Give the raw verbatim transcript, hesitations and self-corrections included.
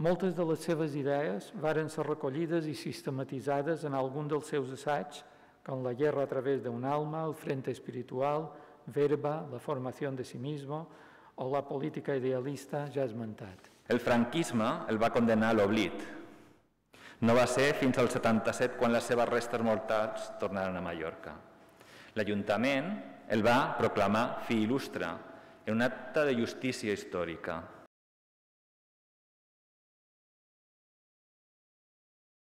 Moltes de les seves idees varen ser recollides i sistematitzades en algun dels seus assaigs, com La guerra a través de un alma, El frente espiritual, Verba, La formación de sí mismo o La política idealista ja esmentat. El franquisme el va condenar a l'oblit. No va ser fins al setanta-set quan les seves restes mortals tornaren a Mallorca. L'Ajuntament el va proclamar fi il·lustre en un acte de justícia històrica.